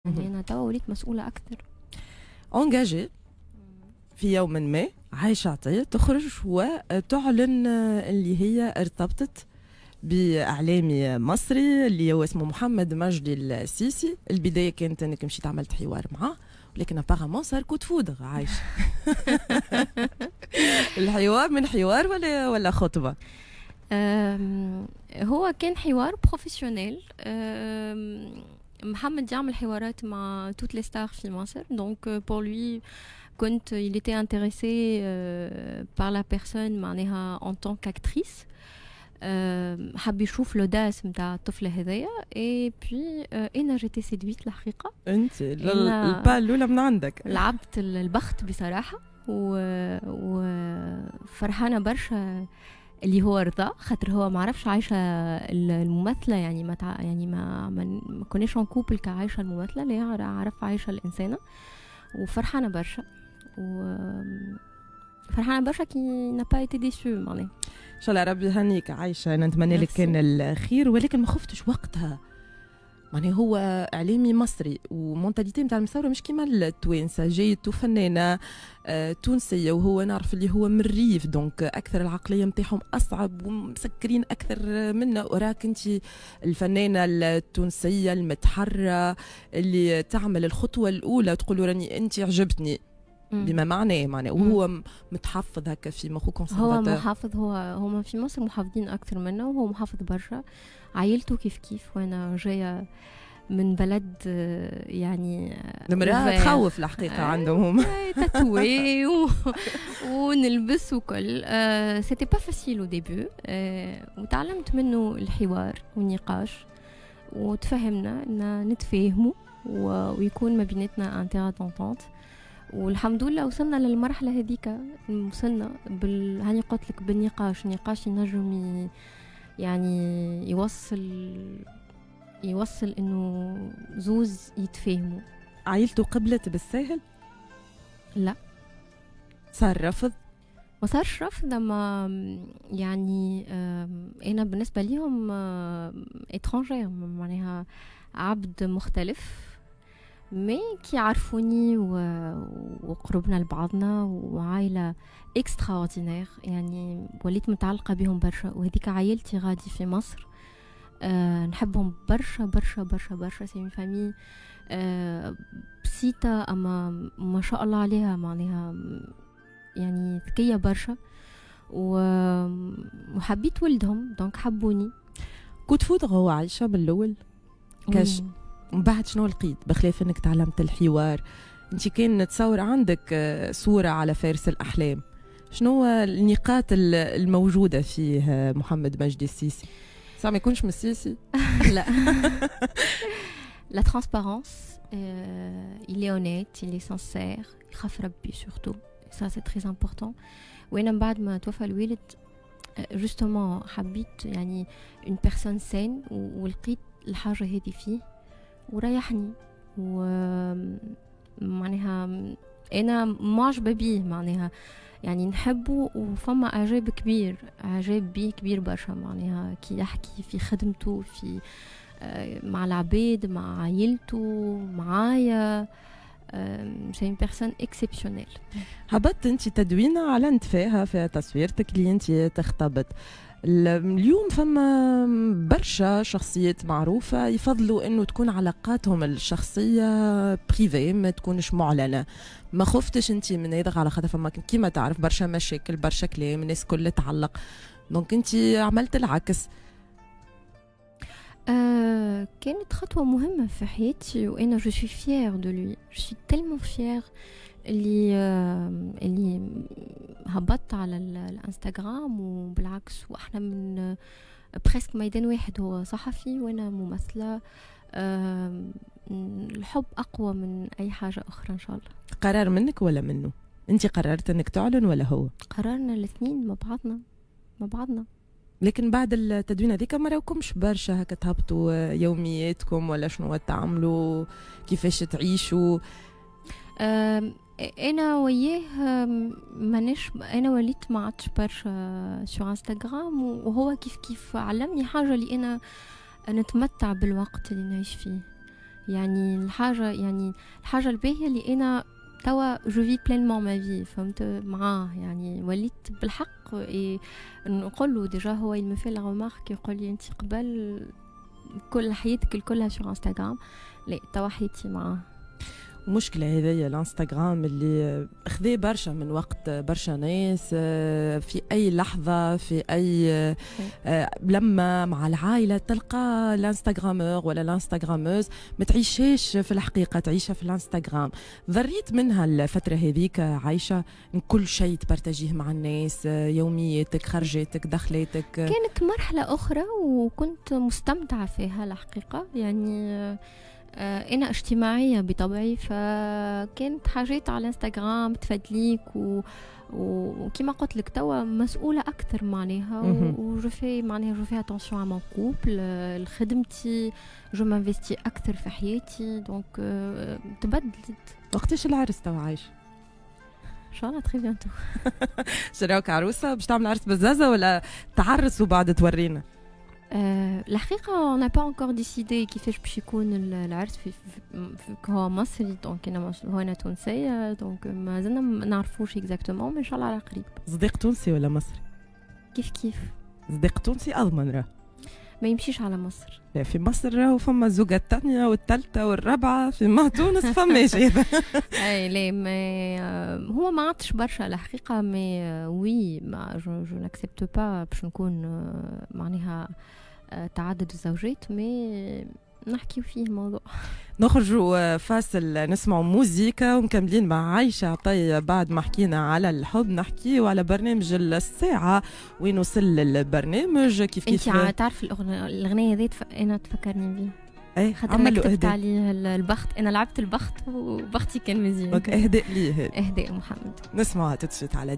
يعني انا توا وليت مسؤولة اكثر. engagée في يوم ما عايشة عطية تخرج وتعلن اللي هي ارتبطت بإعلامي مصري اللي هو اسمه محمد مجدي السيسي. البداية كانت انك مشيت عملت حوار معاه، ولكن apparemment صار coup de foudre. عايشة، الحوار من حوار ولا خطبة؟ هو كان حوار professionnel. محمد يعمل حوارات مع toutes les stars في مصر، donc pour lui كنت il était intéressé par la personne معناها en tant qu'actrice، حب يشوف l'audace نتاع الطفلة هذايا، et puis انا j'étais séduite الحقيقه. انت ال pas الاولى من عندك. لعبت البخت بصراحه، وفرحانه برشا اللي هو رضا، خاطر هو ما عرفش عايشه الممثله، يعني ما تع... يعني ما كناش en couple كعايشه الممثله، لا، عرف عايشه الانسانه. وفرحانه برشا، و فرحانة برشا qu'il n'a pas été déçu معناها. ان شاء الله ربي يهنيك عايشه، انا نتمنى لك كان الخير. ولكن ما خفتش وقتها؟ معناها هو اعلامي مصري و mentalité نتاع المصاورة مش كيما التوانسه، جايته فنانة تونسية وهو نعرف اللي هو من الريف، donc اكثر العقلية نتاعهم اصعب ومسكرين اكثر منا، وراك انت الفنانة التونسية المتحرره اللي تعمل الخطوة الاولى، تقول راني انت عجبتني، بما معناه وهو متحفظ هكا في مخو. هو محافظ، هو هما في مصر محافظين اكثر منا، وهو محافظ برشا، عائلته كيف كيف، وانا جاية من بلد يعني المرأة تخوف الحقيقة عندهم هم. tatouée ونلبس وكل، c'était pas facile au début. وتعلمت منه الحوار والنقاش، وتفهمنا ان نتفاهموا ويكون ما بيناتنا un terrain d'entente، والحمد لله وصلنا للمرحلة هذيك. وصلنا هاني قلت لك بالنقاش، النقاش ينجم يعني يوصل انه زوز يتفاهموا. عائلته قبلت بالساهل؟ لا. صار رفض؟ ما صارش رفض، اما يعني انا بالنسبة ليهم étrangère، معناها عبد مختلف، mais كي عرفوني وقربنا لبعضنا، وعائلة extraordinaire، يعني وليت متعلقه بهم برشا، وهذيك عائلتي غادي في مصر. نحبهم برشا برشا برشا برشا. c'est une famille بسيطة أما ما شاء الله عليها، معناها يعني ذكية برشا، وحبيت ولدهم donc حبوني. coup de foudre هو عايشة بالأول كاش، من بعد شنو لقيت بخلاف انك تعلمت الحوار؟ انت كان نتصور عندك صورة على فارس الأحلام، شنو النقاط الموجودة فيه محمد مجدي السيسي؟ صح ما يكونش من السيسي؟ لا، la transparence، il est honnête، il est sincère، يخاف ربي surtout، ça c'est très important. وانا من بعد ما توفى الوالد justement حبيت يعني une personne saine، ولقيت الحاجة هذه فيه وريحني، و معناها انا معجبة بيه، معناها يعني نحبه، وفما اعجاب كبير، اعجاب بيه كبير برشا، معناها كي يحكي في خدمته، في مع العباد، مع عائلته، معايا، c'est une personne exceptionnelle. هبطت انت تدوينه اعلنت فيها في تصويرتك اللي انت تخطبت. اليوم فما برشا شخصيات معروفة يفضلوا انه تكون علاقاتهم الشخصية privées، ما تكونش معلنة. ما خفتش انت من هذا؟ على خاطر فما كيما تعرف برشا مشاكل، برشا كلام، الناس كل تعلق، donc انت عملت العكس. كانت خطوة مهمة في حياتي، وأنا je suis fière de lui، je suis tellement fière اللي هبطت على الانستغرام. وبالعكس، واحنا من presque ميدان واحد، هو صحفي وانا ممثلة. الحب اقوى من اي حاجة اخرى ان شاء الله. قرار منك ولا منه؟ انت قررت انك تعلن ولا هو؟ قررنا الاثنين مع بعضنا، مع بعضنا. لكن بعد التدوين هذيك ما راوكمش برشا هكا تهبطوا يومياتكم ولا شنو تعملوا، كيفاش تعيشوا. انا وياه مانيش، انا وليت ما عادش برشا sur انستغرام، وهو كيف كيف. علمني حاجه، اللي انا نتمتع بالوقت اللي نعيش فيه. يعني الحاجة الباهيه اللي انا توا je vis pleinement ma vie، فهمت، معاه. يعني وليت بالحق نقول له déjà، هو il me fait la remarque، يقول لي انت قبل كل حياتك الكلها sur انستغرام، لا توا حياتي معاه. مشكلة هذيا الانستغرام اللي خذا برشا من وقت برشا ناس، في أي لحظة، في أي لما مع العائلة تلقى l'instagrameur ولا l'instagrameuse ما تعيشهاش في الحقيقة، تعيشها في الانستغرام. ضريت منها الفترة هذيك عايشة، كل شيء تبارتاجيه مع الناس، يومياتك، خرجاتك، دخلاتك؟ كانت مرحلة أخرى وكنت مستمتعة فيها الحقيقة. يعني انا اجتماعية بطبعي، فكانت حاجات على الانستغرام تفدليك وكما قلت لك توا مسؤولة اكثر معناها، و je fais معناها je fais attention à mon couple، لخدمتي، je m'investis اكثر في حياتي، donc تبدلت. وقتاش العرس توا عايش؟ ان شاء الله très bientôt. شراوك عروسه، باش تعمل عرس بزازه ولا تعرس وبعد تورينا؟ الحقيقة on n'a pas encore décidé كيفاش باش يكون العرس. في هو مصري donc انا هو انا تونسية، donc مازلنا ما نعرفوش exactement، ان شاء الله على قريب. صديق تونسي ولا مصري؟ كيف كيف. صديق تونسي اضمن راه. ما يمشيش على مصر. لا، في مصر راهو فما الزوجة الثانية والثالثة والرابعة، في ما تونس فماش هذا. اي لا، mais هو ما عادش برشا الحقيقة، mais oui ما je n'accepte pas باش نكون معناها تعدد الزوجات، mais نحكيو فيه الموضوع. نخرجوا فاصل، نسمعوا موزيكا ومكملين مع عايشة عطية. بعد ما حكينا على الحب نحكيو على برنامج الساعة، وين وصل البرنامج كيف كيف. انت تعرف الاغنية ذي انا تفكرني بيه. ايه. خاطر انا كتبت عليه البخت، انا لعبت البخت وبختي كان مزيان. donc اهداء ليه. اهداء محمد. نسمعها tout de suite على